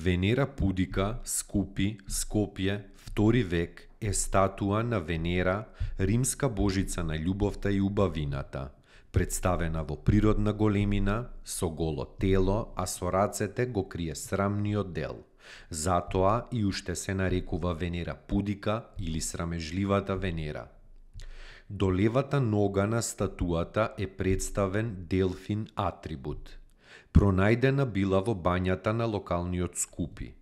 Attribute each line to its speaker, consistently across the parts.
Speaker 1: Венера Пудика, Скопје, 2 век, е статуа на Венера, римска божица на љубовта и убавината, представена во природна големина, со голо тело, а со рацете го крие срамниот дел. Затоа и уште се нарекува Венера Пудика или срамежливата Венера. До левата нога на статуата е представен делфин атрибут. Пронајдена била во бањата на локалниот Скупи.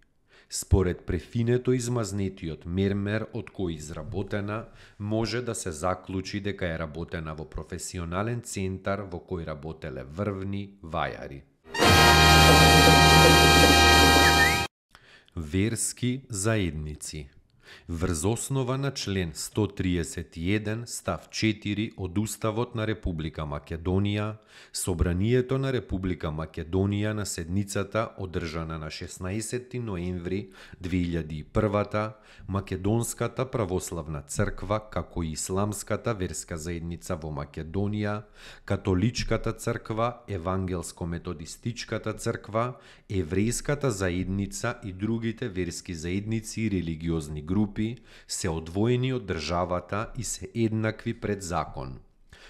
Speaker 1: Според префинето измазнетиот мермер од кој изработена, може да се заклучи дека е работена во професионален центар во кој работеле врвни вајари. Верски заедници. Врз основа на член 131 став 4 од Уставот на Република Македонија, Собранието на Република Македонија на седницата одржана на 16 ноември 2001, Македонската православна црква како и Исламската верска заедница во Македонија, Католичката црква, Евангелско-методистичката црква, Еврејската заедница и другите верски заедници и религиозни групи се одвоени од државата и се еднакви пред закон.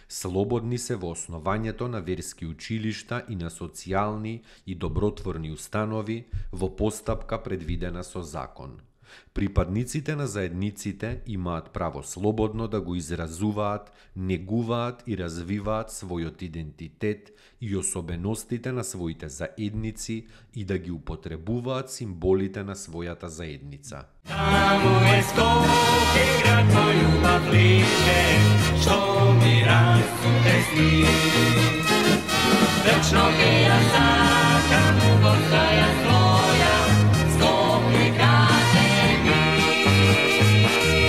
Speaker 1: Слободни се во основањето на верски училишта и на социјални и добротворни установи во постапка предвидена со закон. Припадниците на заедниците имаат право слободно да го изразуваат, негуваат и развиваат својот идентитет и особеностите на своите заедници и да ги употребуваат символите на својата заедница.
Speaker 2: Таму е Скопје, град мој љубав лише, што ми расуте сни. Вечно ке ја сакам, постоја своја, Скопје каже ми.